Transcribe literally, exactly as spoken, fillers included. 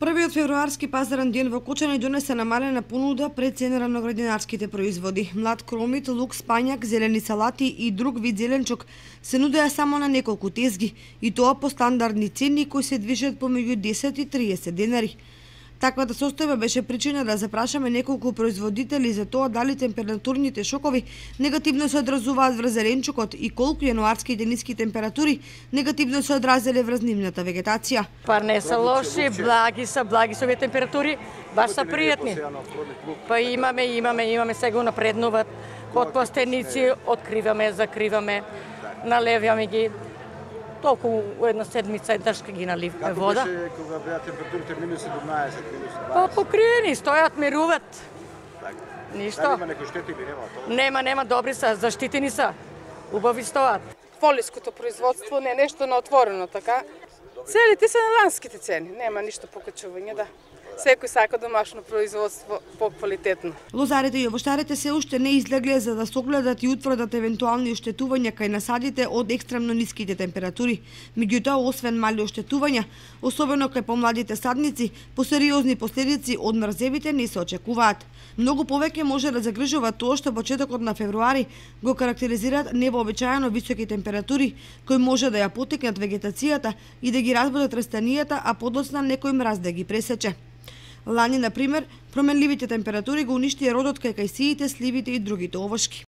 Првиот февруарски пазарен ден во Кочани донесе намалена понуда пред ценера на градинарските производи. Млад кромит, лук, спањак, зелени салати и друг вид зеленчук се нудеа само на неколку тезги, и тоа по стандардни цени кои се движат помеѓу десет и триесет денари. Таквата состојба беше причина да запрашаме неколку производители за тоа дали температурните шокови негативно се одразуваат врз зеленчукот и колку јануарските ниски температури негативно се одразиле врз нивната вегетација. Па не се лоши, благи се, благи се овие температури, баш се пријатни. Па имаме, имаме, имаме сега напреднуваат под пластеници, откриваме, закриваме, налеваме ги. Толку у една седмица еднаш ги наливаме вода. Како беше кога беа температурите минус седумнаесет, минус дваесет? Па покриени, стојат, мируват. Ништо. Дали има некои штети или нема тоа? Нема, нема, добри се, заштитени се. Убави стојат. Полиското производство не е нешто на отворено, така. Целите се на ланските цени, нема ништо покачување, да. Секој сака домашно производство поквалитетно. Лозарите и овоштарите се уште не излегле за да согледат и утврдат евентуални оштетувања кај насадите од екстремно ниските температури. Меѓутоа, освен мали оштетувања, особено кај помладите садници, посериозни последици од мрзевите не се очекуваат. Многу повеќе може да загрижува тоа што почетокот на февруари го карактеризираат невообичаено високи температури, кои може да ја потекнат вегетацијата и да ги разбудат растенијата, а подоцна некој мраз да ги пресече. Лани, например, променливите температури го уништија родот кај кајсиите, сливите и другите овошки.